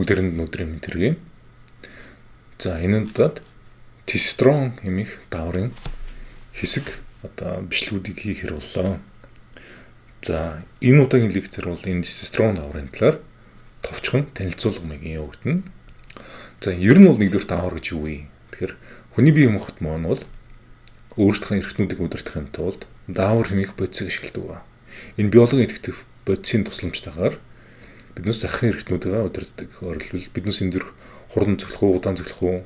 бүгдээрэнд нүдрийн тэрэг. За энэ удаад тестостерон хэмээх дааврын хэсэг бичлэгүүдийг хийхээр боллоо. За энэ удаагийн лекцээр бол энэ тестостерон дааврын талаар товчхон танилцуулга маягийн явагдана. За ер нь бол нэгдүгээр даавар гэж юу вэ? Тэгэхээр хүний бие махбод маань бол өөрсдийнхөө эрхтнүүдийг удирдахын тулд даавар хэмээх бодисыг ашигладаг ба. Энэ биологийн идэвхтэй бодисын тусламжтайгаар биднээс захын эрхтнүүдээ удирддаг. Өөрөлдвөл биднээс энэ зэрэг хурдан цоглох уу, удаан цоглох уу,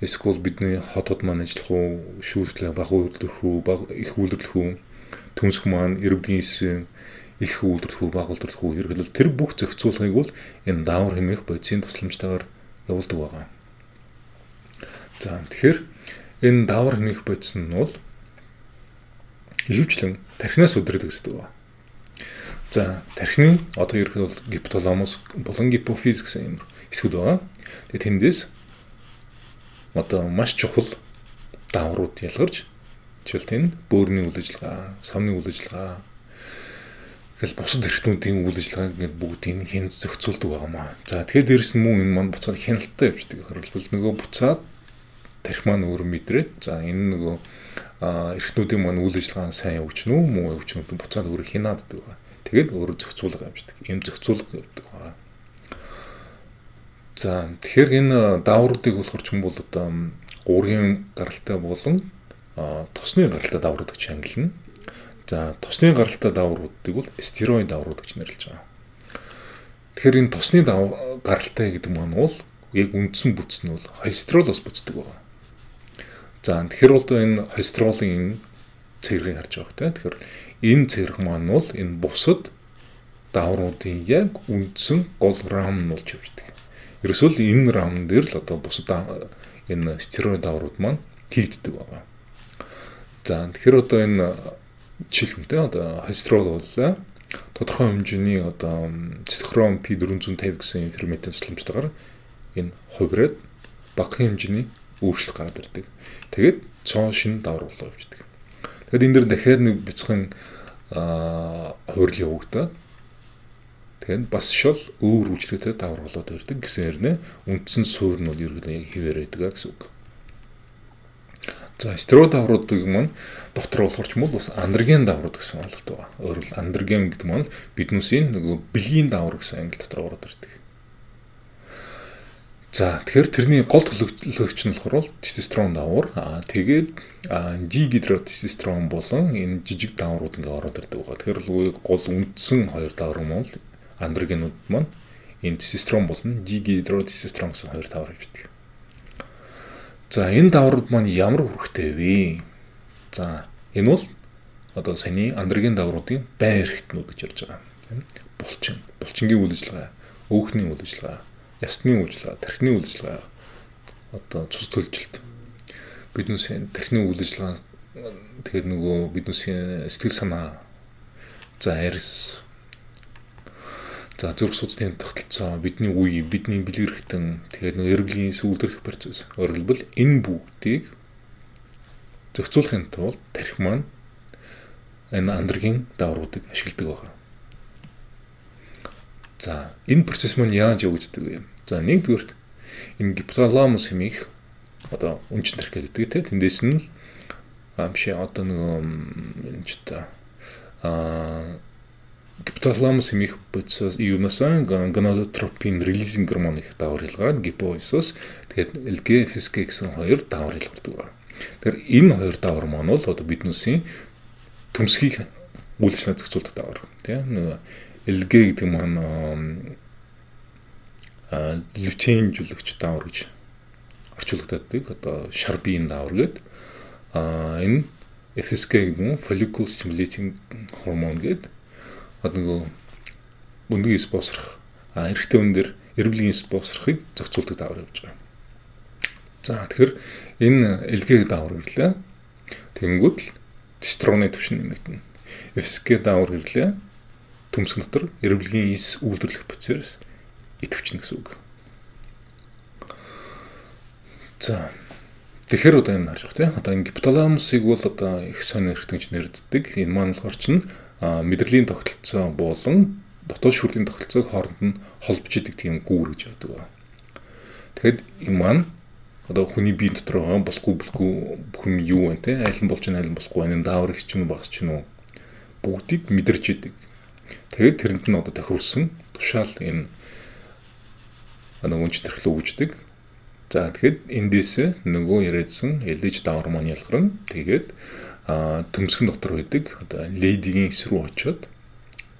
эсвэл бидний хотод маань ажиллах уу, шүүслээ бага үйлдвэрлэх үү, их үйлдвэрлэх үү, төмсөх маань иргэдийн эсрэг их үйлдвэрлэх үү, бага үйлдвэрлэх үү хэрэглэл тэр бүх зохицуулгыг бол энэ даавар хэмээх бодисын тусламжтайгаар явуулдаг байгаа. За тэгэхээр энэ даавар хэмээх бодис нь бол ихэвчлэн тархинаас удирддаг гэдэг байна. За тархины одоо ерөнхийдөө бол гипоталамус болон гипофиз гэсэн юм хэсгүүд байгаа. Тэгээд тэндээс одоо маш чухал дааврууд ялгарч жишээлбэл бөөрийн үйл ажиллагаа, самны үйл ажиллагаа тэгэл бусад эрхтнүүдийн үйл ажиллагааг ингээд бүгдийг хэн зохицуулдаг байгаамаа. За тэгэхээр дээрэс нь мөн энэ маань буцаад хяналттай явждаг. Харилбал нөгөө буцаад тархи маань өөрөө мэдрээд за энэ нөгөө эрхтнүүдийн маань үйл ажиллагаа сайн явуулчихна уу, муу явуулчихна уу буцаад өөрөө хянаад байгаа. Тэгээд өөрөө зохицуулга явждаг. Ийм зохицуулга явдаг байгаа. За тэгэхээр энэ даавруудыг болохоор ч юм бол одоо уургийн гаралтай болон тосны гаралтай дааврууд гэж ангилна. За тосны гаралтай даавруудыг бол стероид дааврууд гэж нэрлэж байгаа. Тэгэхээр энэ тосны гаралтай гэдэг маань бол яг үндсэн бүтц нь бол холестеролоос бүтдэг байгаа. За тэгэхээр бол энэ холестеролын цэргийг харж байгаа хэрэгтэй. Тэгэхээр энэ цэрэг маань бол энэ бусад даавруудын яг үндсэн гол рам нь болж явждаг. Ерөөсөө л энэ рам дээр л одоо бусад энэ стероид дааврууд маань хийгддэг байгаа. За тэгэхээр одоо энэ жишээлбэлтэй одоо холестерол бол тодорхой хэмжээний одоо цитохром P450 гэсэн ферментийн тусламжтайгаар энэ хувираад бага хэмжээний өөрчлөлт гараад ирдэг. Тэгээд цоо шинэ даавар болоо явждаг. Тэгээд энэ дэр дахиад нэг бяцхан хувирал явагдаад тэгээд бас шал өөр үйлчлэгтэй даавар болоод ирдэг гэсэн хэрнээ үндсэн суурь нь бол ерөнхийдөө хിവэр байдаг гэсэн үг. За стероид даавруудыг маань дотор болохоор ч юм бол бас андроген дааврууд гэсэн ойлголт байгаа. Өөрөөр хэл андроген гэдэг маань биднүүсийн нөгөө бэлгийн даавар гэсэн англи дотор ороод ирдэг. За тэгэхээр тэрний гол төлөвлөгч нь болохоор тестостерон даавар. Тэгээд дигидротестостерон болон энэ жижиг дааврууд ингээ ороод ирдэг байгаа. Тэгэхээр гол үндсэн хоёр даавар маань андрогенууд маань энэ тестостерон болон дигидротестостерон гэсэн хоёр даавар явждаг. За энэ дааврууд маань ямар үүрэгтэй вэ? За энэ бол одоо саяны андроген даавруудын байн эрхтнүүд гэж ярьж байгаа. Булчингийн үйл ажиллагаа, өөхний үйл ажиллагаа, ясны үйл ажиллагаа, тархины үйл ажиллагаа, одоо цус төлжилт. Биднээс тархины үйл ажиллагаа тэгэхээр нөгөө биднээс сэтгэл санаа, за арьс, за зүрх судасны тогтолцоо, бидний үе, бидний бэлэг эрхтэн, тэгээд нөгөө эргэлийн сүүлдэрх процесс. Өөрөлдвөл энэ бүгдийг зохицуулахын тулд тархи маань энэ андроген даавруудыг ашигладаг байна. За энэ процесс маань яаж явагддаг вэ? За нэгдүгээр энэ гипоталамус хэмээх одоо үнжин тархи гэдэг тийм тэндээс нь биш одоо нөгөө энэ ч та гипоталамус хэмээх процесс юунасаа гонадотропин релизинг гормон их даавар илгараад гипофизоос тэгээд LG-FSK гэсэн хоёр даавар илгардаг байна. Тэгэхээр энэ хоёр даавар маань бол одоо биднүүсийн төмсгийг үйлчлэн зохицуулдаг даавар тийм нөгөө LG гэдэг маань лютеинжүүлэгч даавар гэж орчуулдаг. Одоо шарбийн даавар гэдэг. Энэ FSK гэдэг нь follicle stimulating hormone гэдэг. Одоо нөгөө өндгийн эс босрох эрэгтэй хүн дээр эрүүлийн эс босрохыг зохицуулдаг даавар явж байгаа. За тэгэхээр энэ LG даавар ирлээ. Тэнгүүд л тестостероны түвшин нэмэгдэнэ. FSK даавар ирлээ. Төмсг дотор эрүүлийн эс үйлдвэрлэх процесс идэвхжинэ гэсэн үг. За тэгэхээр одоо энэ харж байгаа тийм одоо энэ гипоталамусыг бол одоо их сонир эрхтэнч нэрддэг. Энэ маань болохоор чинь мэдрэлийн тогтолцоо болон дотоод шүрлийн тохиролцоог хооронд нь холбож идэг тийм гүүр гэж яддаг байна. Тэгэхэд энэ маань одоо хүний бие дотор байгаа болохгүй бүхэн юу вэ те айл нь болж байна айл нь болохгүй энэ даавар их ч юм уу багс ч юм уу бүгдийг мэдэрч идэг. Тэгээд тэрэнд нь одоо тохируулсан тушаал энэ өнч төрхлөө үүждэг. За тэгэхэд эндээс нөгөө яриадсан элеж даавар маань ялгарна. Тэгээд төмсгөн дотор байдаг одоо лейдигийн эс рүү очиод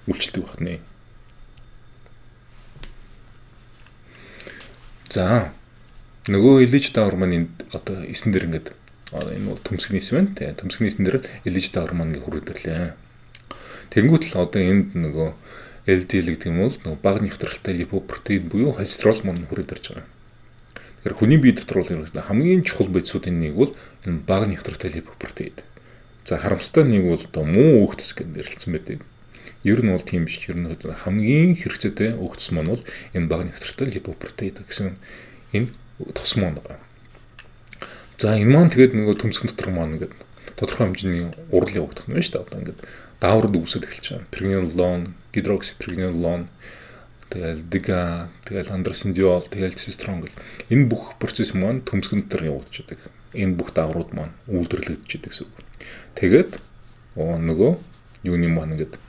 үйлчлдэг байна. За нөгөө элеж даавар маань одоо эсэн дээр ингээд энэ бол төмсгний эс байна. Тэгээ төмсгний эсэн дээр элеж даавар маань ингээд хүрээдэрлээ. Тэнгүүт л одоо энд нөгөө LDL гэдэг юм бол нөгөө бага нэвтрэлтэй липопротеин буюу холестерол маань хүрээдэрж байгаа. Тэгэхээр хүний бие дотор бол хамгийн чухал байцуудын нэг бол энэ бага нэвтрэлтэй липопротеин. За харамсалтай нэг бол одоо муу өөхтөс гэж нэрлэлсэн байдаг. Ер нь бол тийм биш. Ер нь хамгийн хэрэгцээтэй өөхтөс маань бол энэ бага нэвтрэлтэй липопротеин гэсэн энэ тос маань байгаа. За энэ маань тэгээд нөгөө төмсгөн дотор маань ингээд тодорхой хэмжээний урал явагдах нь байна шүү дээ. Одоо ингээд дааврууд үүсэж эхэлж байгаа. Pregnenolone, hydroxypregnenolone, тэгэл дига, тэгэл андросиндиол, тэгэл тестостерон гэл энэ бүх процесс маань төмсгөн дотор явагдаж байгаа. Энэ бүх дааврууд маань үйлдвэрлэгдэж байгаа гэсэн үг. Тэгээд нөгөө юуны маань ингээд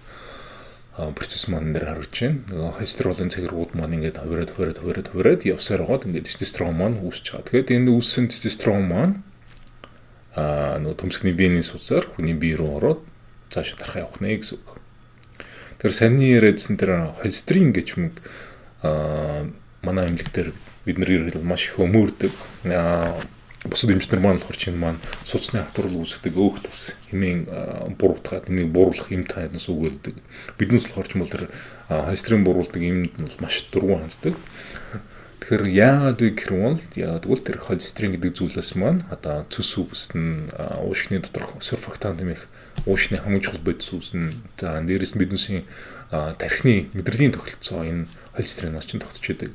процесс маань нэр харагдаж байна. Нөгөө холестеролын цагиргууд маань ингээд хувираад явсаар байгаад ингээд тестостерон маань үүсэж байгаа. Тэгээд энэ үүссэн тестостерон маань нөгөө төмсгний венийн судсаар хүний бие рүү ороод цаашаа тархаа явах нэ гэсэн үг. Тэр саний яриадсан тэр холестерин гэж юм манай эмнэлэгтэр бид нэр ирэл маш их өмөрдөг. Бусад эмчнэр маань болохоор чинь маань судасны хатварл үүсгдэг өөх тас хэмээн буруутгаад энийг бууруулах эм тайнаас үгэлдэг. Биднээс болохоор ч юм бол тэр холестерин бууруулдаг эмд нь бол маш дургуун ханддаг. Тэгэхээр яагаад вэ гэвэл тэр холестерин гэдэг зүйлээс маань одоо цөс үс нь уушгины доторх сурфактант нэмэх уушны хамгийн чухал бодис үс нь за дээрээс нь биднээсийн тархины мэдрэлийн тогтолцоо энэ холестеринаас чинь тогтч байдаг.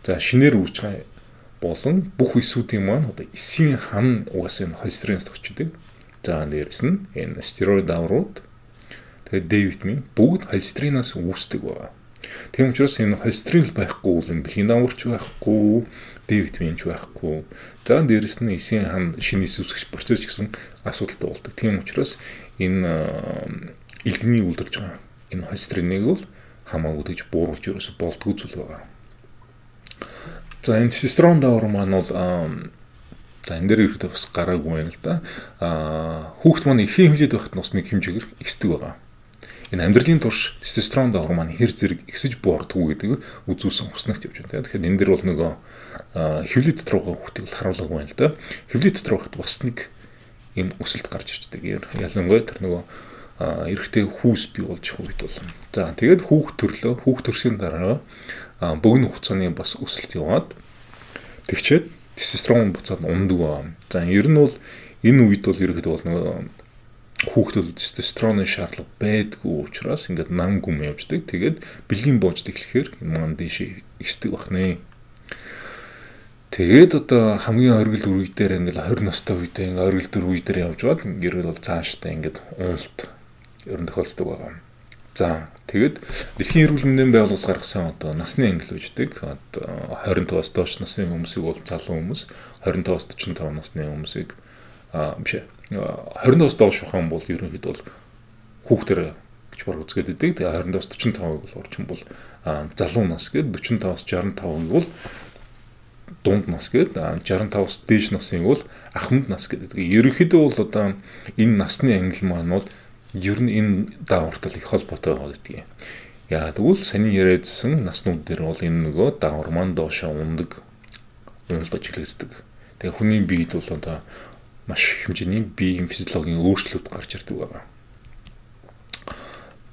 За шинээр үүсч байгаа болон бүх эсүүдийн маань одоо эсийн хан угаасаа энэ холестеринаас тогтч байдаг. За дээрээс нь энэ стероид дааврууд тэгээд Д витамин бүгд холестеринаас үүсдэг байна. Тийм учраас энэ холестерин байхгүй бол энэ бэлгийн дааварч байхгүй, Д витаминч байхгүй. За дээрэс нь эсийн хан шинээс үүсгэх процесс гэсэн асуудалтай болдог. Тийм учраас энэ илгэний үлдэрж байгаа энэ холестериныг бол хамаагүй гэж бууруулж ерөөсө болдгоо зүйл байгаа. За энэ тестостерон даавар маань бол за энэ дээр ирэхдээ бас гараагүй байна л да. Хүүхэд маань эхийн хэмжээд байхад нь бас нэг хэмжээгээр ихсдэг байгаа. Энэ амьдралын турш тестостерон даавар маань хэр зэрэг ихсэж буурдаггүй гэдэг үзүүлсэн уснагт явж байна. Тэгэхээр энэ дээр бол нөгөө хэвлэл дотор байгаа хүүхдийг харуулаагүй байна л да. Хэвлэл дотор байхад бас нэг юм өсөлт гарч ирдэг. Ялангуяа тэр нөгөө эрэгтэй хүүс бий болж байгаа үед бол. За тэгээд хүүхд төрлөө, хүүхд төрсийн дараа богино хугацааны бас өсөлт яваад тэгчээд тестостерон буцаад ундаг байна. За ер нь бол энэ үед бол ерөөхдөө бол нөгөө хүүхдүүд тестостероны шаардлага байдгүй учраас ингээд нам гүм явждаг. Тэгээд бэлгийн боожд эхлэхээр энэ маань дэшээ ихсдэг бахнэ. Тэгээд одоо хамгийн оргил үе дээр ингээд 20 настай үедээ ингээд оргил үе дээр явж байгаад ингээд бол цаашдаа ингээд уналт ерөн тохиолддог байгаа. За тэгээд дэлхийн эрүүл мэндийн байгууллагаас гаргасан одоо насны англи үүждэг. Одоо 25-аас доош насны хүмүүсийг бол залуу хүмүүс, 25-аас 45 насны хүмүүсийг биш 25-аас доош ухаан бол ерөнхийдөө бол хүүхдэр гэж баг үзгээд байдаг. Тэгээ 25-аас 45-ыг бол орчин бол залуу нас гээд 45-аас 65-ыг бол дунд нас гээд 65-аас дээш насын бол ахмад нас гэдэг. Ерөнхийдөө бол одоо энэ насны англи маань бол ер нь энэ даавартай их холбоотой байгаа гэдэг. Яа тэгвэл саний яриадсан наснууд дээр бол энэ нөгөө даавар маань доошоо ундаг, уналдаж эхлэдэг. Тэгээ хүний биед бол одоо маш их хэмжээний биеийн физиологийн өөрчлөлт гарч ирдэг байгаа.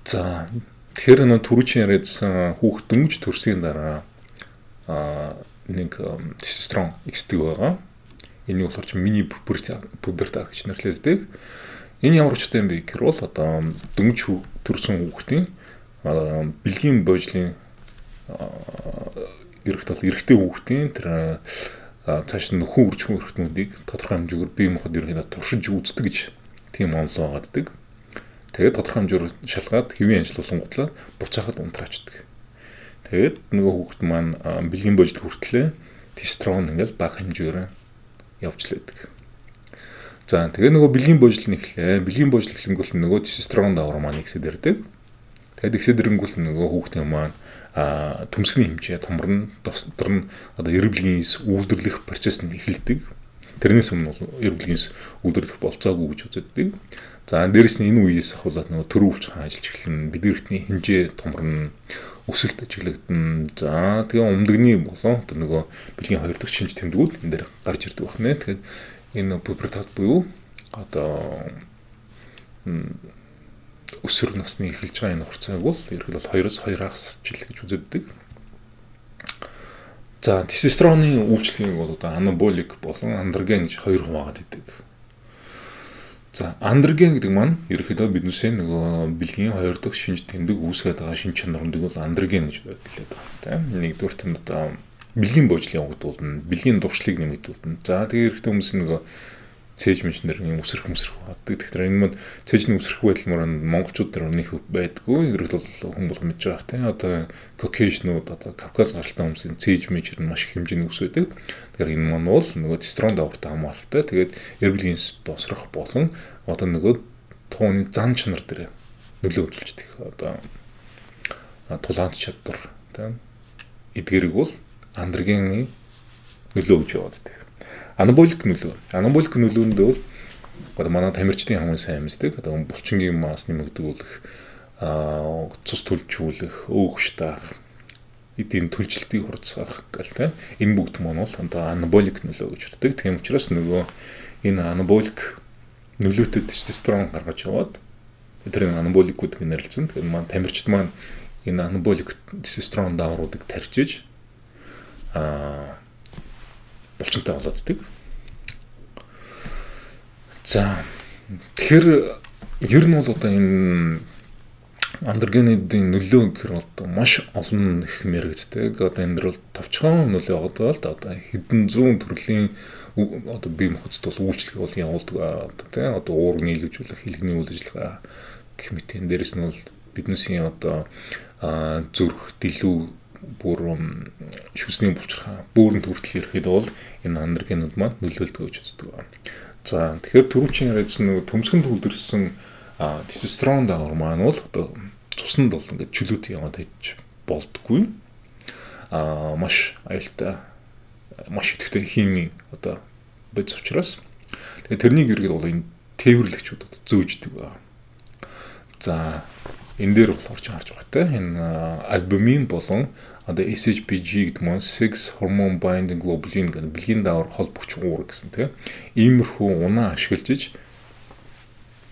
За тэгэхээр нэг түрүүчийн яриадсан хүүхэд дөнгөж төрсгийн дараа нэг тестостерон ихсдэг байгаа. Энийг болохоор чи мини пубертат гэж нэрлэдэг. Энэ ямар учиртай юм бэ гэхээр бол одоо дөнгөж төрсэн хүүхдийн бэлгийн боожлын эрэгтэй хүүхдийн тэр цааш нь нөхөн үржих эрхтнүүдийг тодорхой хэмжээгээр бие махбод ерөнхийдөө туршиж үздэг гэж тийм онол байгааддаг. Тэгээд тодорхой хэмжээр шалгаад хэвийн ажиллуулангуудлаа буцаахад унтраачдаг. Тэгээд нөгөө хүүхэд маань бэлгийн божил хүртлээ тестостерон ингээл бага хэмжээр явж лээдэг. За тэгээд нөгөө бэлгийн божил нэхлээ. Бэлгийн божил эхлэнгүүт нөгөө тестостерон давар маань ихсэд ирдэг. Тэгээд ихсэд ирэнгүүт нөгөө хүүхдийн маань төмсгний хэмжээ томорно. Дотор нь одоо эрэг бэлгийн үйлдвэрлэх процесс нь эхэлдэг. Тэрнээс өмнө бол эрэг бэлгийн үйлдвэрлэх болцоогүй гэж үздэг. За дээрэс нь энэ үеэс ахуулаад нөгөө төрөө өвчхөн ажиллаж эхэлнэ. Бид эрхтний хэмжээ томорно. Өсөлт ажиглагдана. За тэгээ өмдөгний болон одоо нөгөө бэлгийн 2 дахь шинж тэмдгүүд энэ дээр гарч ирдэг байна. Тэгэхээр энэ пубертат буюу одоо өсвөр насны эхэлж байгаа энэ хугацааг бол ерөнхийдөө 2-оос 2 жил гэж үздэг. За тестостероны үйлчлэгийг бол одоо анаболик болон андроген гэж хоёр хуваагаад байдаг. За андроген гэдэг маань ерөнхийдөө биднээсээ нөгөө бэлгийн 2 дахь шинж тэмдэг үүсгээд байгаа шинж чанаруудыг бол андроген гэж хэлээд байгаа. Тийм. Нэгдүгээр нь одоо бэлгийн боожлын явагдуулна, бэлгийн дуршлыг нэмэгдүүлнэ. За тэгээ эрэгтэй хүмүүс нөгөө цээж мэнчнэр юм өсрөх байдаг. Тэгэхээр энэ мод цээжний өсрөх байдал мөрөнд монголчууд дээр нэг байдгүй. Ерөнхийдөө хүн бол мэдж байгаа тийм. Одоо Caucasian-ууд одоо Кавказ гаралтай хүмүүсийн цээж мэнчэр нь маш их хэмжээний өсөдөг. Тэгэхээр энэ маань бол нөгөө тестостерон давартай хамааралтай. Тэгээд эргэлгийн босрох болон одоо нөгөө тууны зан чанар дээр нөлөө үзүүлждэг. Одоо тулаанд чадвар тийм. Эдгэрийг бол андрогены нөлөө гэж яваад байдаг. Анаболик нөлөөнд бол одоо манай тамирчдын хамгийн сайн мэддэг. Одоо булчингийн мас нэмэгдүүлэх, цус төлжүүлэх, өөгч таах, эдийн төлжилтийг хурцгаах гэл тийм. Энэ бүгд маань бол одоо анаболик нөлөө гэж ярьдаг. Тийм учраас нөгөө энэ анаболик нөлөөтэй тестостерон гаргаж яваад тэр анаболик гэдэг нь нэрлэлсэн. Тэгэхээр маань тамирчид маань энэ анаболик тестостерон давруудыг тарьжиж булчинтай болооддаг. За тэгэхээр ер нь бол одоо энэ андрогенидийн нөлөө гэхээр одоо маш олон их мэрэгддэг. Одоо энэ дэр бол товчхон нөлөө яваад л одоо хэдэн зуун төрлийн одоо бие махбодд бол үйлчлэг бол явуулдаг. Одоо тийм одоо уурыг нийлүүлжүүлэх, хэлхний үйл ажиллагаа гэх мэт энэ дээрээс нь бол биднээсийн одоо зүрх, дэлүү бүр шүсний булчирхаа бөөрөнд хүртэл ирэхэд бол энэ андрогенууд маань нөлөөлдөг гэж үздэг байна. За тэгэхээр түрүүчийн яриадсан нөгөө төмсгөнд үлдэрсэн тестостерон давар маань бол одоо цуснд бол ингээд чөлөөт яваад байж болдгоо. Маш аюултай, маш идэвхтэй химийн одоо бодис учраас тэгээд тэрнийг эргээд бол энэ тээвэрлэгчүүд одоо зөөждөг байна. За энэ дээр бол орж харж байгаа те энэ альбумин болон одоо SHBG гэдэг маань sex hormone binding globulin гэдэг бэлгийн давар холбогч уур гэсэн те иймэрхүү унаа ашиглаж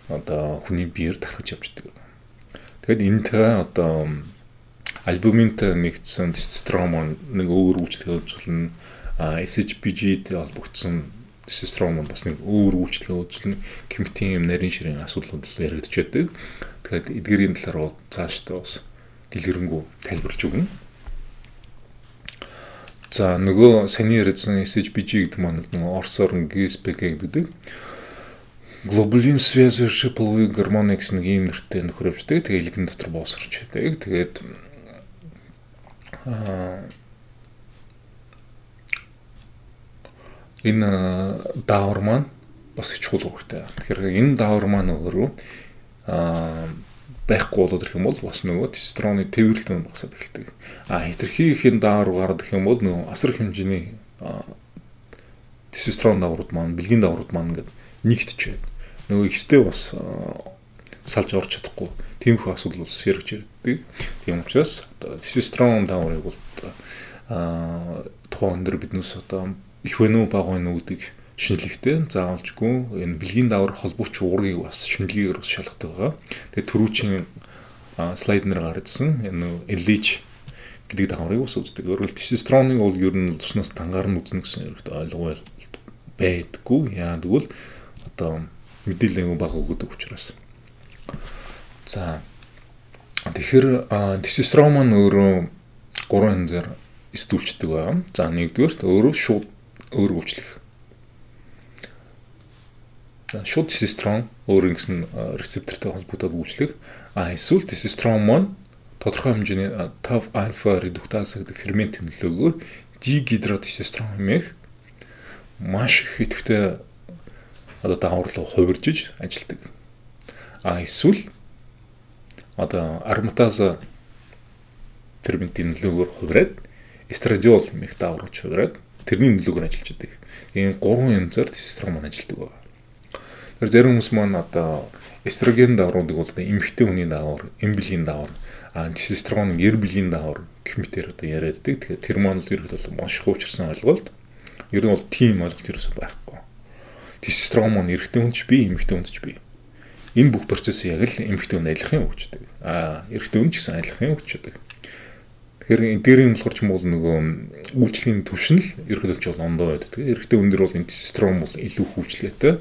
одоо хүний биеэр тархаж явждаг. Тэгэд энэтэй одоо альбуминтай нэгдсэн тестостерон маань нэг өөр үйлчлэгээ үзүүлнэ. SHBG-тэй холбогдсон тестостерон маань бас нэг өөр үйлчлэгээ үзүүлнэ. Гэмтийн нарийн ширийн асуудлууд яригдж байдаг. Тэгэхээр эдгэрийн талаар бол цаашдаа бас дэлгэрэнгүй тайлбарж өгнө. За нөгөө саний яриадсан SHBG гэдэг маань нөгөө орсоор GSPG гэдэг глобулин связывающий половые гормоны гэсэн нэг ийм нэртэй нөхөр явждаг. Тэгээ илгэн дотор боосорч байдаг. Тэгээд энэ даавар маань бас их чухал үүрэгтэй. Тэгэхээр энэ даавар маань өөрөө байхгүй болоод ирэх юм бол бас нөгөө тестостероны тээвэрлэлт нь багасаад эхэлдэг. Хэтэрхий их энэ даавар гараад ирэх юм бол нөгөө асар хэмжээний тестостерон дааврууд маань, бэлгийн дааврууд маань ингээд нэгтчихэд нөгөө ихтэй бас салж орж чадахгүй. Тиймэрхүү асуудал бас яригч ирдэг. Тийм учраас тестостерон дааврыг бол тухайн өндөр биднээс одоо их вэ нү бага вэ нү гэдэг шинжилгээтэй заавалжгүй энэ бэлгийн даавар холбооч уургийг бас шинжилгээгээр бас шалгадаг байгаа. Тэгээд түрүүчийн слайд нэр гаргажсэн энэ LH гэдэг дааврыг бас үздэг. Өөрөөр хэлбэл тестостероныг бол ер нь туснаас дангаар нь үзнэ гэсэн ойлгоо байдаггүй. Яа тэгвэл одоо мэдээлэл бага өгдөг учраас. За тэгэхээр тестостерон маань өөрөө 3 янзаар эсдүүлждэг байна. За нэгдүгээр өөрөө шууд өөр үйлчлэх. шууд тестостерон өөр ингэсэн рецептортой холбогдоод үйлчлэх. Эсвэл тестостерон маань тодорхой хэмжээний TAF альфа редуктаз гэдэг фермент нөлөөгөөр дигидротестостерон хэмээх маш их идэвхтэй даавар руу хувиржиж ажилладаг. Эсвэл ароматаз ферментийн нөлөөгөөр хувираад эстрадиол хэмээх даавар руу хувираад тэрний нөлөөгөөр ажиллаж байдаг. Энэ 3 янзаар тестостерон маань ажилладаг байна. Тэр зарим хүмүүс маань эстроген даавруудыг бол эмэгтэй хүний даавар, эмблийн даавар, тестостерон эрблийн даавар гэх мэтээр яриад байдаг. Тэгэхээр тэр маань л ерөөд бол маш хуучирсан ойлголт. Ер нь бол тийм ойлголт ерөөсөө байхгүй. Тестостерон маань эрэгтэй хүнд ч бий, эмэгтэй хүнд ч бий. Энэ бүх процесс яг л эмэгтэй хүнд адилхан үүсдэг. Эрэгтэй хүнд ч гэсэн адилхан үүсдэг. Тэгэхээр дээрийн болохоор ч юм бол нөгөө үйлчлэгийн төвшинл ерөөдөлж бол ондоо байдаг. Эрэгтэй хүн дээр бол энэ тестостерон бол илүү хүчлээтэй,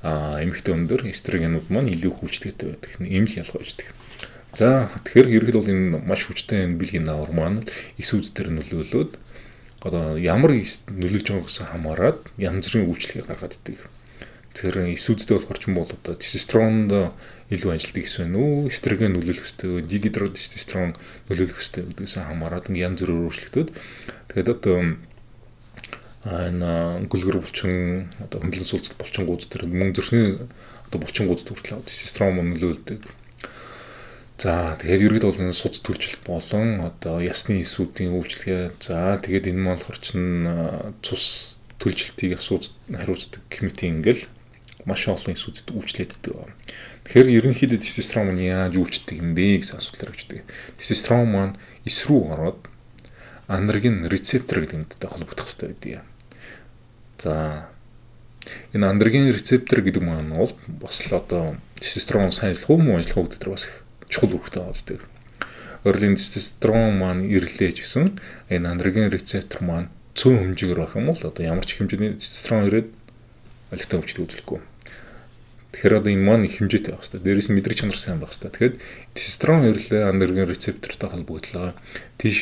эмэгтэй хүн дээр эстрогенууд маань илүү хүчлээтэй байдаг. Ийм л ялгаа үүсдэг. За тэгэхээр ерөөд бол энэ маш хүчтэй эмблийн даавар маань эс үз дээр нөлөөлөд ямар нөлөөлж байгааг гэсэн хамаарат янз бүрийн үйлчлэгийг гаргаад идэг. Тэгэхээр эс үзтэй болохоор ч юм бол тестостеронд илүү ажилтдаг гэсэн үү, эстроген нөлөөлөх ёстой, дигидротестостерон нөлөөлөх ёстой гэдгээс хамаарат янз бүрээр өөрчлөгдөд. Тэгээд энэ гүлгэр булчин хөндлөн суулцалт булчингууд тэр мөн зөрсний булчингууд хүртэл тестостерон нөлөөлдөг. За тэгээд ерөөд бол энэ суц төлжил болон ясны эсүүдийн үйлчлэгээ. За тэгээд энэ маань болохоор чинь цус төлжилтийг хариуцдаг гэмтийн ингээл маш олон эсүүдэд үйлчлэгддэг. Тэгэхээр ерөнхийдөө тестостерон маань яаж үйлчлдэг юм бэ гэсэн асуулт гарчдаг. Тестостерон маань эс рүү ороод андроген рецептор гэдэг юмтай холбогдох хэрэгтэй байдаг. За энэ андроген рецептор гэдэг маань бол бас л тестостерон сайн ажиллах уу муу ажиллах уу гэдэг дээр бас их чухал үүрэгтэй байдаг. Өөрөлдөө тестостерон маань ирлээж гэсэн энэ андроген рецептор маань цөөн хэмжээгээр байх юм бол ямар ч хэмжээний тестостерон ирээд алигтай өвчлөг үзлэхгүй. Тэгэхээр энэ маань их хэмжээтэй байх хэрэгтэй. Дээрээс нь мэдрэг чанар сайн байх хэрэгтэй. Тэгэхээр тестостерон ирлээ андроген рецептортой холбогдлоо. Тийш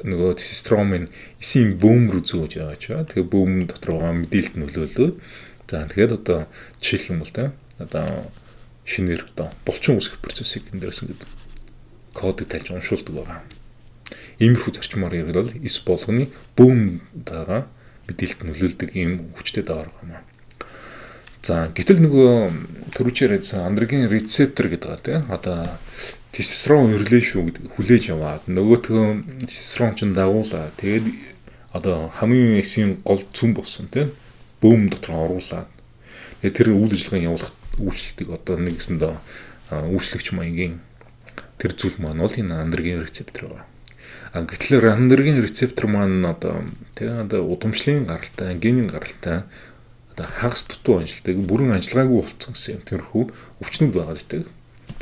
нөгөө тестостерон минь эсийн бөөм рүү зөөж байгаа ч. Тэгээ бөөм дотор байгаа мэдээлэлд нөлөөлөө. За тэгэхээр жишээлх юм бол шинээр булчин үүсгэх процессыг энэ дээрээс ингээд кодыг тайлж уншуулдаг байгаа. Иймэрхүү зарчмаар ярил бол эс болгоны бөөм дагаа мэдээлэлд нөлөөлдөг ийм хүчтэй даавар байна. За гэтэл нөгөө төрүүчээр ярьсан андроген рецептор гэдэг байгаа тийм тестостерон ирлээ шүү гэдэг хүлээж аваад нөгөөтгөө тестостерон ч дагуулаа тэгээд хамгийн эсийн гол цөм болсон тийм бөөм дотор оруулаад тэгээд тэр үйл ажиллагааг явуулах үйлчлэлтийг нэгсэнд үйлчлэгч маягийн тэр зүйл маань бол энэ андроген рецептор байна. Гэтэл андроген рецептор маань тэгээд удамшлын гаралтай, генийн гаралтай хагас дутуу ажилтдаг, бүрэн ажиллагаагүй болцсон гэсэн юм тэрхүү өвчнүүд байгаа гэдэг.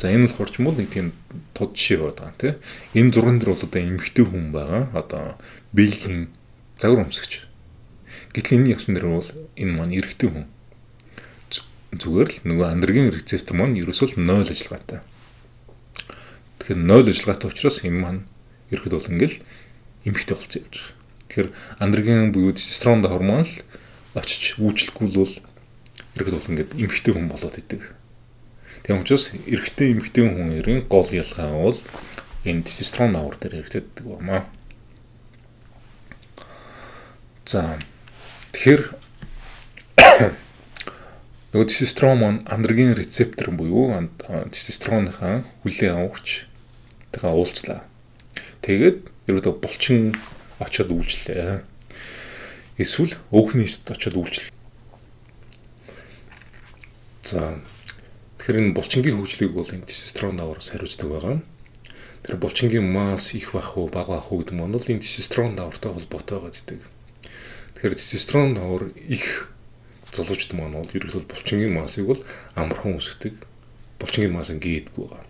За энэ болохоор ч юм уу нэг тийм тод жишээ байгаа тийм. Энэ зурган дээр бол эмэгтэй хүн байгаа. Бэлгийн загвар өмсгч. Гэтэл энэ явсан дээр бол энэ маань эрэгтэй хүн. Зүгээр л нөгөө андроген рецептор маань ерөөсөө 0 ажиллагаатай. Тэгэхээр 0 ажиллагаатай учраас энэ маань ерөөд бол ингээл эмэгтэй болцсон юм. Тэгэхээр андроген буюу тестостерон гормон л очиж үйлчлэхгүй бол ерөөд бол ингээд эмэгтэй хүн болоод идэг. Тийм учраас эрэгтэй эмэгтэй хүний гол ялгаа бол энэ тестостерон давар дээр хэрэгждэг байна. За тэгэхээр нөгөө тестостерон маань андроген рецептор буюу тестостероныхаа хүлээн авахч тэгээ уулзлаа. Тэгээд ерөөдөө булчин очиод үйлчлээ. Эсвэл өөхнийст очиод үйлчлээ. За тэгэхээр энэ булчингийн хөгжлийг бол энэ тестостерон давараас хариуцдаг байгаа. Тэр булчингийн масс их байх уу, бага байх уу гэдэг нь бол энэ тестостерон давартай холбоотой байдаг. Тэгэхээр тестостерон давар их залуучд маань бол ерөөсөө булчингийн массыг бол амархан үүсгдэг. Булчингийн масс ингэдэггүй байгаа.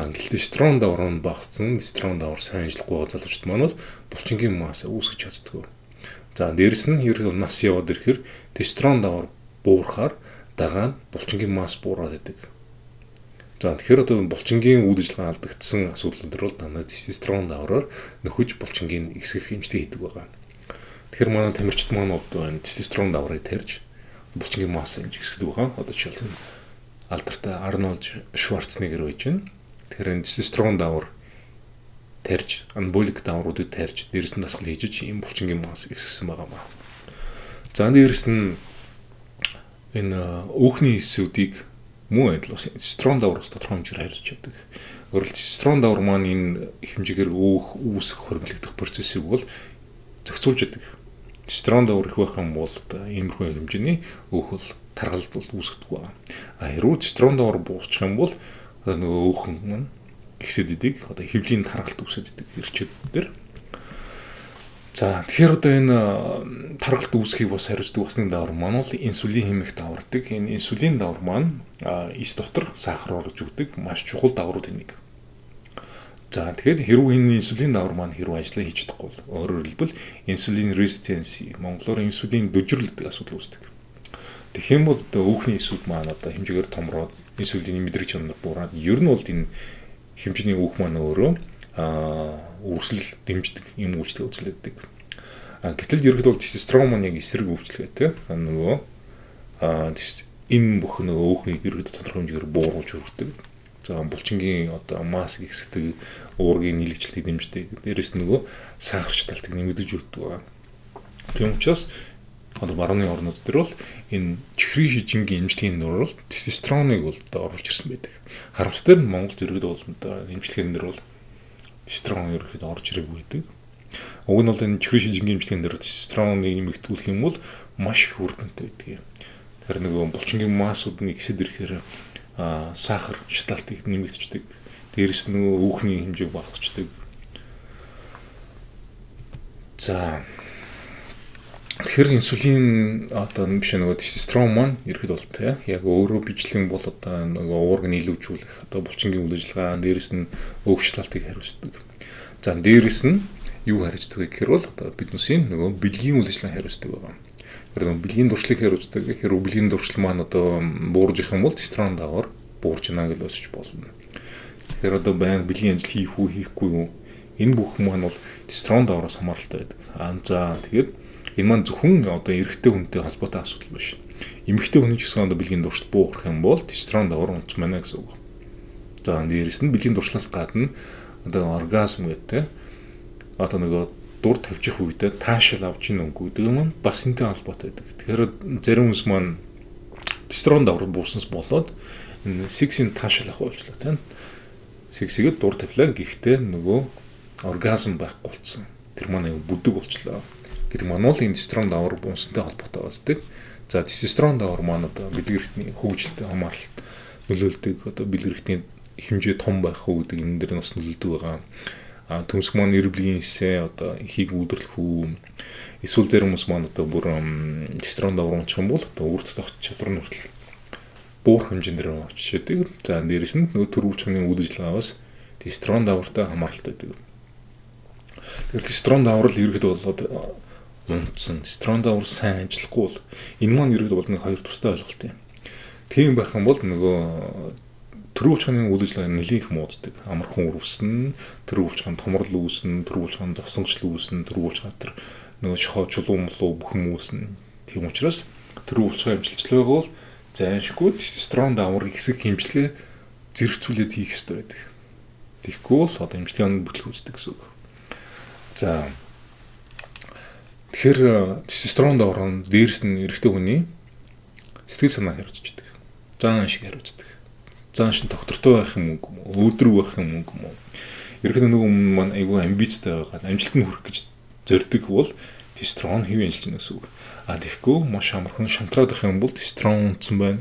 Гэтэл тестостерон давар нь багассан, тестостерон давар сайн ажиллахгүй байгаа залуучд маань бол булчингийн масс үүсгэж чаддаг. За дээрэс нь ерөөсөө нас яваад ирэхээр тестостерон давар буурахаар дагаад булчингийн масс буураад идэг. За тэгэхээр булчингийн үйл ажиллагаа алдагдсан асуудлууд төр бол дандаа тестостерон давраар нөхөж булчингийн ихсэх хэмжээ хийдэг байгаа. Тэгэхээр манай тамирчид маань бол тестостерон даврыг тарьж булчингийн масс хэмжээ хэсэгдэг байгаа. Одоо жишээлбэл алдартай Арнольд Шварценеггер байж байна. Тэгэхээр энэ тестостерон даавар тарьж, анаболик даавруудыг тарьж, дээрэс нь дасгал хийж ийм булчингийн масс ихсгсэн байгаа маа. За дээрэс нь энэ өөхний эсүүдийг муу адил тестостерон даавраас тодорхой хэмжээр харьцаж байдаг. Өөрөлд тестостерон даавар маань энэ хэмжээгээр өөх, үүсэх, хоригдлох процессыг бол зохицуулж байдаг. Тестостерон даавар их байх юм бол иймэрхүү хэмжээний өөх бол таргалд бол үүсгэдэг байна. Хэрвээ тестостерон даавар буусчих юм бол нөгөө өөхөн маань ихсэд идэг, одоо хэвлийн таргалт үүсэд идэг эрчүүдээр. За тэгэхээр одоо энэ таргалт үүсхийг бас хариуцдаг бас нэг даавар маань бол инсулин хэмээх даавардаг. Энэ инсулин даавар маань эс дотор сахар оруулж өгдөг маш чухал даавруудын нэг. За тэгэхээр хэрвээ энэ инсулин даавар маань хэрвээ ажиллаа хийж чадахгүй бол өөрөөр хэлбэл инсулин резистенси, монголоор инсулин дөжрөл гэдэг асуудал үүсдэг. Тэгэх юм бол өөхний эсүүд маань одоо хэмжээгээр томроод инсулины мэдрэг чанар буураад ер нь бол энэ хэмжээний өөх маань өөрөө үрсэл дэмждэг юм үйлчлэг үзүүлдэг. Гэтэл ерөнхийдөө бол тестостерон маань яг эсрэг үйлчлэгээтэй. Нөгөө энэ бүх нөгөө өөхнийг ерөнхийдөө тодорхой хэмжээгээр бууруулж өргөдөг. За булчингийн одоо маск ихсдэг, уургийн нийлэгчлэлийг дэмждэг. Дээрээс нөгөө сахарч талтыг нэмэгдэж өгдөг. Тийм учраас одоо барууны орнууд дээр бол энэ чихрийн шижингийн эмчилгээний нөр бол тестостероныг бол оруулж ирсэн байдаг. Харамсалтай нь Монголд ерөнхийдөө бол эмчилгээний нэр бол тестостерон ерөнхийдөө орж ирээгүй байдаг. Уг нь бол энэ чихрийн шижингийн эмчилгээний нэр тестостероныг нэмэгдүүлэх юм бол маш их үр дүнтэй байдаг. Тэр нөгөө булчингийн массууд нь ихсэд ирэхээр сахар шаталтыг нэмэгдчихдэг. Дээрээс нөгөө өөхний хэмжээг багасчдаг. За тэгэхээр инсулин одоо биш нөгөө тестостерон маань ерөөд бол тэ яг өөрөө бичлэн бол одоо нөгөө уургыг нийлүүлжүүлэх одоо булчингийн үйл ажиллагаа дээрээс нь өөх шалалтыг хариуцдаг. За дээрээс нь юу хариуцдаг вэ гэхээр бол одоо биднээсийн нөгөө бэлгийн үйл ажиллагааг хариуцдаг байгаа. Тэр нөгөө бэлгийн дуршлыг хариуцдаг гэхээр бэлгийн дуршил маань одоо буурж их юм бол тестостерон даавар буурж ийна гэж өсөж болно. Тэгэхээр одоо баян бэлгийн ажил хийх үү хийхгүй юу энэ бүх маань бол тестостерон даавараас хамааралтай байдаг. За тэгээд энэ маань зөвхөн одоо эрэгтэй хүнтэй холбоотой асуудал биш. Эмэгтэй хүний ч гэсэн одоо бэлгийн дуршил буурах юм бол тестостерон даавар унц мэнэ гэсэн үг. За дээрээс нь бэлгийн дуршлаас гадна одоо оргазм гэдэг одоо нөгөө дур тавьчих үедээ таашаал авч ийн өнгө гэдэг юм бас энтэй холбоотой байдаг. Тэгэхээр зарим хүмүүс маань тестостерон даавар буурснаас болоод энэ сексийн таашаал авах болчлаа тийм. Сексигэд дур тавилаа гэхдээ нөгөө оргазм байхгүй болсон. Тэр маань бүдэг болчлоо. Гэдэг маань бол энэ тестостерон даавар буунсантай холбоотой байдаг. За тестостерон даавар маань одоо бэлэг эрхтний хөгжилтэй хамааралт нөлөөлдөг. Одоо бэлэг эрхтний хэмжээ том байх уу гэдэг энэ дэр бас нөлөөлдөг байгаа. Төмсг маань эрблгийн эсээ одоо ихийг үүдрлэх үү. Эсвэл зарим хүмүүс маань одоо бүр тестостерон даавар унчих юм бол одоо үрд тогт чадвар нь хүртэл буурах хэмжээндээр очиж яадаг. За дээрэс нь нөгөө төрөвчмийн үйл ажиллагаас тестостерон даавартай хамааралтай байдаг. Тэгэхээр тестостерон даавар л ерөөд болоод унтсан. Тестостерон даавар сайн ажиллахгүй бол энэ маань ерөөд бол нэг хоёр тустай ойлголт юм. Тийм байх юм бол нөгөө төрөвчмийн үйл ажиллагаа нэлээд их мууддаг. Амархан үрвсэн, төрөвчмийн томрол үүснэ, төрөвчмийн зовсонгочл үүснэ, төрөвчмийн тэр нөгөө шохоо чулуун бүх юм үүснэ. Тийм учраас төрөвчмийн амжилтчлага бол зайлшгүй тестостерон даавар ихсэх хэмжлэгээ зэрэгцүүлээд хийх ёстой байдаг. Тэгэхгүй бол одоо эмчилгээний бүтлэг үүсдэг гэсэн үг. За тэгэхээр тестостерон даавар нь дээрс нь эрэгтэй хүний сэтгэл санааг хариуцдаг. Зан шиг хариуцдаг. Зан шин доктортой байх юм уу, өөдрөг байх юм уу? Ерөнхийдөө нөгөө хүмүүс маань айгүй амбицтай байгаа. Амжилтанд хүрэх гэж зорддог бол тестостерон хэвэн ажиллаж байна гэсэн үг. Тэгэхгүй маш амархан шантраад байх юм бол тестостерон унтсан байна.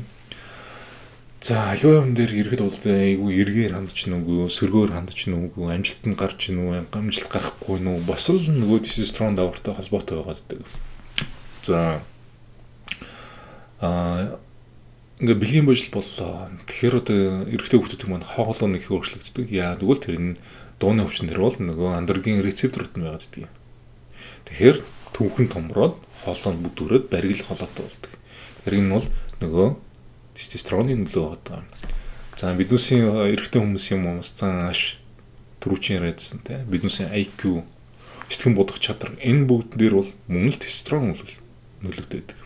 За аливаа юм дээр иргэд бол айгүй эргээр хандж нүгөө, сөргөөр хандж нүгөө, амжилтанд гарч нүгөө, амжилт гарахгүй нүгөө бас л нөгөө тестостерон даавартай холбоотой байгаа гэдэг. За ингээ бэлгийн божил боллоо. Тэгэхээр одоо эрэгтэй хүүхдүүд маань хоолой нэг өөрчлөгддөг. Яа тэгвэл тэр энэ дууны өвчин дээр бол нөгөө андроген рецепторууд нь байгаа гэдэг. Тэгэхээр түүхэн томроод хоолой нь бүдүүрээд баригл холоотой болдог. Тэр энэ бол нөгөө тестостероны нөлөө байгаа. За биднээсийн эрэгтэй хүмүүсийн момс цааш түрүүчийн яриадсан те биднээсийн IQ сэтгэн бодох чадвар энэ бүгд дээр бол мөн л тестостерон нөлөөтэй байдаг.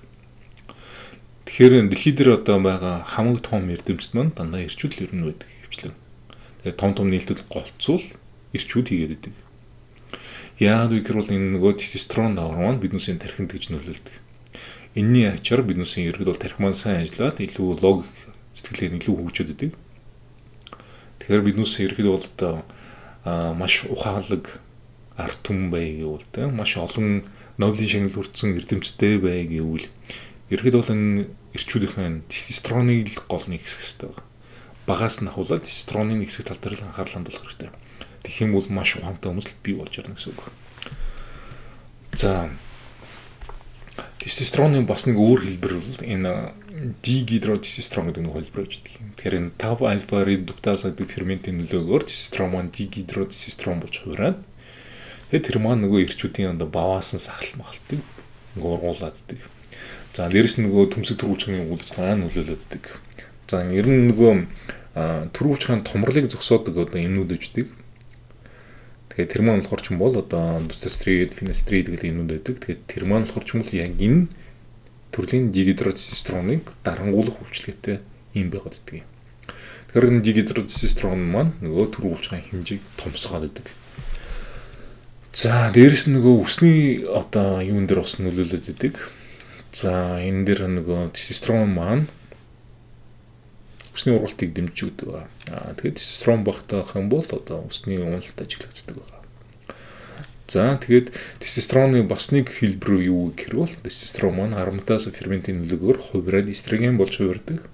Тэгэхээр дэлхий дээр одоо байгаа хамгийн том эрдэмтд маань дандаа ирчүүд л ер нь байдаг хвчлэн. Тэгээд том нийлдэд голцвол ирчүүд хийгээд байдаг. Яагаад вэ гэвэл энэ нөгөө тестостерон давар маань биднээсээ тархинд гэж нөлөөлдөг. Энийний ачаар биднээсээ ерөөд бол тархи маань сайн ажиллаад илүү логик сэтгэлээр илүү хөгжөөд байдаг. Тэгэхээр биднээсээ ерөөд бол одоо маш ухаалаг арт түмэн бай гэвэл тэ маш олон Нобелийн шагнал хүртсэн эрдэмтдтэй бай гэвэл ерөөд бол энэ ирчүүдийн тестостероныг л гол нэгсэх хэрэгтэй байна. Багаас нь ахуулаад тестостероны нэгсэх тал дээр л анхаарал хандуулах хэрэгтэй. Тэгэх юм бол маш ухаантай хүмүүс л бий болж ярина гэсэн үг. За тестостероны бас нэг өөр хэлбэр бол энэ дигидротестостерон гэдэг нэг хэлбэр гэж байдаг. Тэгэхээр энэ 5 альфа редуктаз гэдэг ферментийн нөлөөгөөр тестостерон маань дигидротестостерон болж хувираад тэгээд тэр маань нөгөө ирчүүдийн одоо баваас нь сахал махалтыг ургуулад идэг. За дээрэс нь нөгөө төмсөг төрүүлжгийн үйлчлэгээ нөлөөлөддөг. За ер нь нөгөө төрүүлжгийн томрлыг зогсоодог одоо эмнүүд өгдөг. Тэгэхээр тэр маань болохоор ч юм бол одоо дустастрид, финастрид гэдэг эмнүүд байдаг. Тэгэхээр тэр маань болохоор ч юм бол яг энэ төрлийн дигидротестостероныг дарангуулах үйлчлэгээтэй юм байгаад байдаг. Тэгэхээр энэ дигидротестостерон маань нөгөө төрүүлжгийн хэмжээг томсгоод байдаг. За дээрэс нь нөгөө үсний одоо юун дээр бас нөлөөлөд идэг. За энэ дээр нөгөө тестостерон маань үсний ургалтыг дэмжиж өгдөг. Тэгээд тестостерон багтаах юм бол одоо үсний уналт ажиглагддаг байна. За тэгээд тестостероны бас нэг хэлбэр юу гэхээр бол тестостерон маань ароматаз ферментийн нөлөөгөөр хувираад эстроген болж хувирдаг.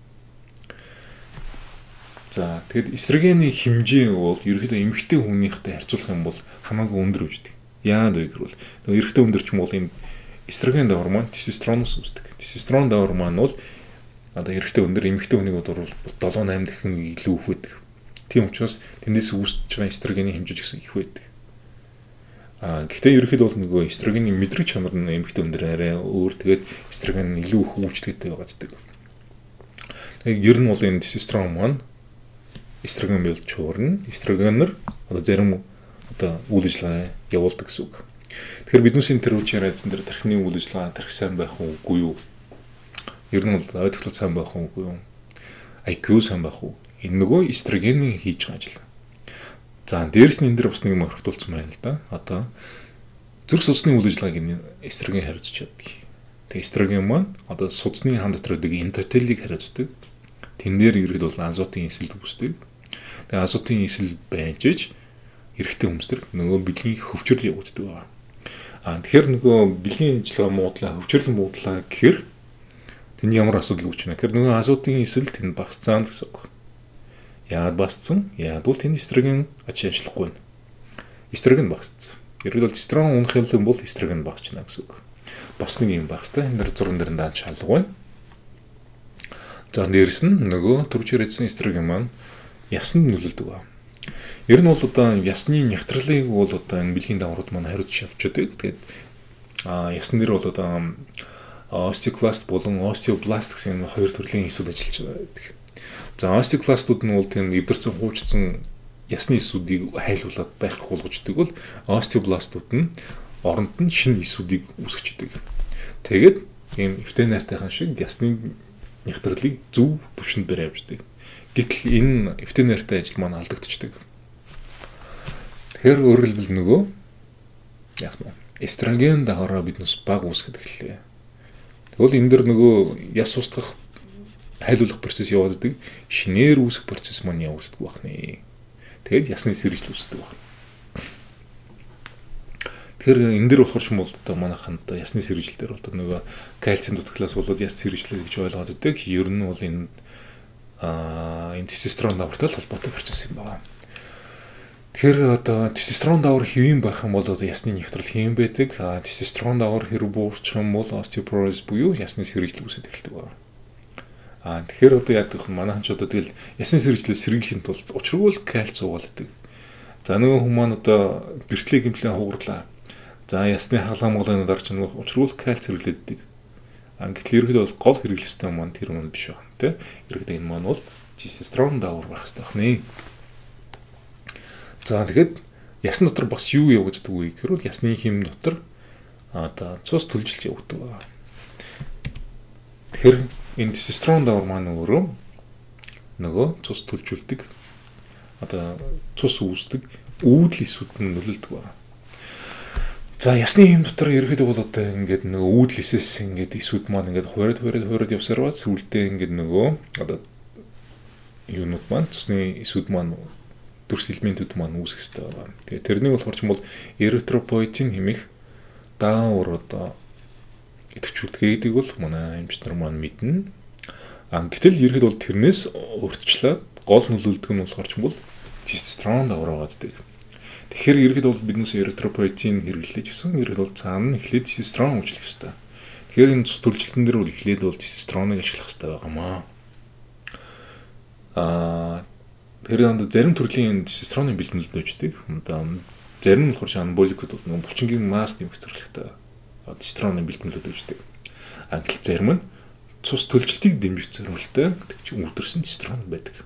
За тэгээд эстрогены хэмжээ бол ерөөхдөө эмэгтэй хүнийхтэй харьцуулах юм бол хамаагүй өндөр үүсдэг. Яагаад вэ гэвэл нөгөө эрэгтэй өндөр ч юм бол энэ эстроген давар маань тестостероноос үүсдэг. Тестостерон давар маань бол одоо эрэгтэй өндөр эмэгтэй хүнийг бол 7-8 дахин илүү их байдаг. Тийм учраас тэндээс үүсэж байгаа эстрогены хэмжээ гэсэн их байдаг. Гэхдээ ерөөхдөө бол нөгөө эстрогены мэдрэг чанар нь эмэгтэй өндөр арай өөр. Тэгээд эстроген илүү их үйлчлэгтэй байгааддаг. Тэгээд ер нь бол энэ тестостерон маань эстроген болж хуурна. Эстрогенээр одоо зарим одоо үйл ажиллагаа явуулдаг гэсэн үг. Тэгэхээр биднээсийн тэр үеийн айдсан дээр тархины үйл ажиллагаа тархи сайн байх уугүй юу? Ер нь бол ойлгох сайн байх уугүй юу? IQ сайн байх уу? Энэ нөгөө эстрогений хийж байгаа ажил. За дээрэс нь энэ дэр бас нэг мөрөгдүүлсэн байна л да. Одоо зүрх судасны үйл ажиллагааг эстроген хариуцж чаддаг. Тэгээ эстроген маань одоо судасны хан дотор байдаг эндотелийг хариуцдаг. Тэн дээр ерөөд бол азотын эсэлд үүсдэг. Тэгээ азотын эсэл байж иж эрэгтэй хүмүүстэр нөгөө бэлгийн хөвчрөл явагддаг байна. Тэгэхээр нөгөө бэлгийн ажиллагаа муудлаа, хөвчрөл муудлаа гэхээр тэнд ямар асуудал үүсэж байна. Тэгэхээр нөгөө азотын эсэл тэнд багасцсан гэсэн үг. Яагаад багасцсан? Яагаад бол тэнд эстроген ажиллахгүй байна. Эстроген багасцсан. Ерөөд бол тестостерон унах юм бол эстроген багасчна гэсэн үг. Бас нэг юм багастай. Энэ зурган дээр дааж шалга байна. За дээрэс нь нөгөө төрж ирсэн эстроген маань ясанд нөлөөлдөг байна. Ер нь бол одоо ясны нягтралыг бол одоо энэ бэлгийн даврууд маань хариуцж явчихдаг. Тэгээд ясн дээр бол одоо остеокласт болон остеобласт гэсэн хоёр төрлийн эсүүд ажиллаж байдаг. За остеокластууд нь бол тийм эвдэрсэн хуучсан ясны эсүүдийг хайлуулад байхгүй болгождаг бол остеобластууд нь оронд нь шинэ эсүүдийг үүсгэждэг. Тэгээд ийм эвтэнартайхан шиг ясны нягтралыг зөв төвшөнд барь явждаг. Гэтэл энэ эвтэнартай ажил маань алдагдчихдаг. Тэгэхээр өөрөөр хэлбэл нөгөө яг нь эстроген даваараа биднээс баг үүсгэж эхэллээ. Тэгвэл энэ дэр нөгөө яс устгах хайлуулах процесс яваад идэг. Шинээр үүсэх процесс маань явагддаг байна. Тэгээд ясны сэржил үүсдэг байна. Тэгэхээр энэ дэр болохоор ч юм бол одоо манайханд ясны сэржил дээр бол нөгөө кальцийн дутагдлаас болоод яс сэржил гэж ойлгоод идэг. Ер нь бол энэ тестостерон давартай холбоотой процесс юм байна. Тэгэхээр одоо тестостерон давар хэвэн байх юм бол одоо ясны нягтрал хэвэн байдаг. Тестостерон давар хэрэг буурчих юм бол остеопороз буюу ясны сэржил үүсэж эхэлдэг байна. Тэгэхээр одоо яг гэх манайхан ч одоо тэгэл ясны сэржлээс сэргийлэхийн тулд учиргүй кальц уугаалдаг. За нөгөө хүмүүс маань одоо бэртлэг гэмтлэн хугарлаа. За ясны халамгалын дарч нөгөө учиргүй кальц хэрэглэдэг. Гэтэл ерөөдөө бол гол хэрэглэстэй маань тэр маань биш байна тий. Ерөөдөө энэ маань бол тестостерон давар байх хэрэгтэй байна. За тэгэхэд ясны дотор бас юу явагддаг вэ гэхээр ясны хэм дотор одоо цус төлжилт явагддаг. Тэгэхээр Энэ тестостерон давар маань нөгөө цус төлжүүлдэг одоо цус үүсдэг үүдл эсүүд нь нөлөөлдөг байна. За ясны хэм дотор ерөөхдөө бол одоо ингээд нөгөө үүдл эсээс ингээд эсүүд маань ингээд хуурад явсараа сүүлдээ ингээд нөгөө одоо юунууд маань цусны эсүүд маань дүрс элементүүд маань үүсэх хэрэгтэй байна. Тэгээ тэрнийг болохоор ч юм бол эритропоетин хэмээх даавар одоо идэвхжүүлдэг гэдэг бол манай эмчнэр маань мэднэ. Гэтэл ерөөд бол тэрнээс урьдчилаад гол нөлөөлдөг нь болохоор ч юм бол тестостерон давар байдаг. Тэгэхээр ерөөд бол биднээс эритропоетин хэрэглэж гисэн ерөөд бол цаана нь эхлээд тестостерон үйлчлэх хэрэгтэй. Тэгэхээр энэ цус төлжилтэн дээр бол эхлээд бол тестостероныг ашиглах хэрэгтэй байгаамаа. Тэгэхээр зарим төрлийн тестостероны бэлтгэлд нөөждөг. Зарим нь болохоор анаболикуд бол нэг булчингийн масс нэмэх зорилготой тестостероны бэлтгэлд нөөждөг. Гэтэл зарим нь цус төлжилтийг дэмжих зорилготой үүдэрсэн тестостерон байдаг.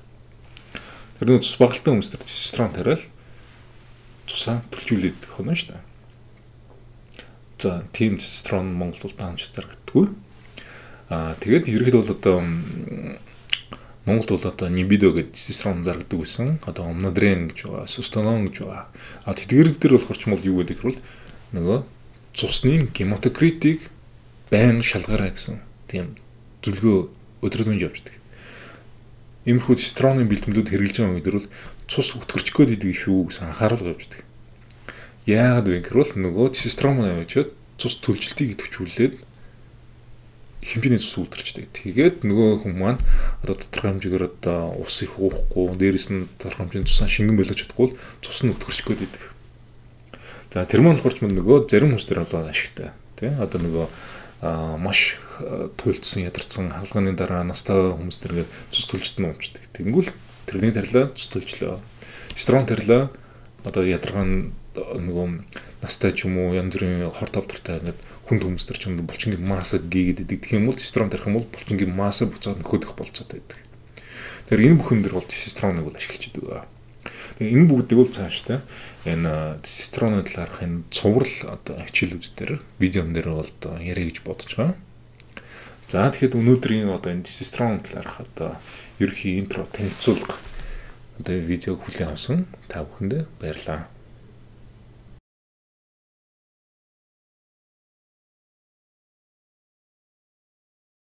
Тэр нэг цус багалтай хүмүүс тэр тестостерон тариал цусаа төлжүүлээд идэх нь шүү дээ. За тийм тестостерон Монголд бол даанч зарагддаггүй. Тэгээд ерөөд бол одоо Монголд бол одоо нибидо гэдэг тестостерон зарагддаг байсан. Одоо омнодрен гэж байгаа, сустонон гэж байгаа. Тэтгэр дээр болохоор ч юм бол юу гэдэг хэрвэл нөгөө цусны гематокритийг байн шалгаарай гэсэн тийм зөвлөгөө өдрөдөн явждаг. Иймэрхүү тестостероны бэлтгэлүүд хэрэгжилж байгаа үед бол цус өтгөрч гээд идэг шүү гэсэн анхаарал явждаг. Яагаад вэ гэвэл нөгөө тестостерон маань яваад цус төлжилтийг идэвхжүүлээд хэмжээний цус үлдэрчдэг. Тэгээд нөгөө хүн маань одоо тодорхой хэмжээгээр одоо ус их уухгүй, дээрэс нь тодорхой хэмжээний цусаа шингэн байлгаж чадахгүй цус нь өтгөрч гээд идэг. За тэр маань болохоор ч нөгөө зарим хүмүүс төр болоо ашигтай. Тэ одоо нөгөө маш туйлдсан ядарсан халгааны дараа настай хүмүүс төр ингээд цус төлжилт нь уучдаг. Тэнгүүл тэрний тарилаа цус төлжлөө. Тестостерон тарилаа одоо ядаргаан нөгөө настай ч юм уу янз бүрийн хорт авдартай ингээд хүнд хүмүүс төр ч юм булчингийн масса гийгээд идэг юм бол тестостерон тарих юм бол булчингийн масса буцаад нөхөдөх болцоотой байдаг. Тэгэхээр энэ бүхэн дэр бол тестостероныг бол ашиглаж идэг. Тэгээ энэ бүгдийг бол цааштай энэ тестостероны талаарх энэ цуврал одоо хичээлүүд дээр видеон дээр бол одоо яриа гэж бодож байгаа. За тэгэхээр өнөөдрийн одоо энэ тестостерон талаарх одоо ерөнхий интро танилцуулга одоо видеог хүлээн авсан та бүхэндээ баярлалаа.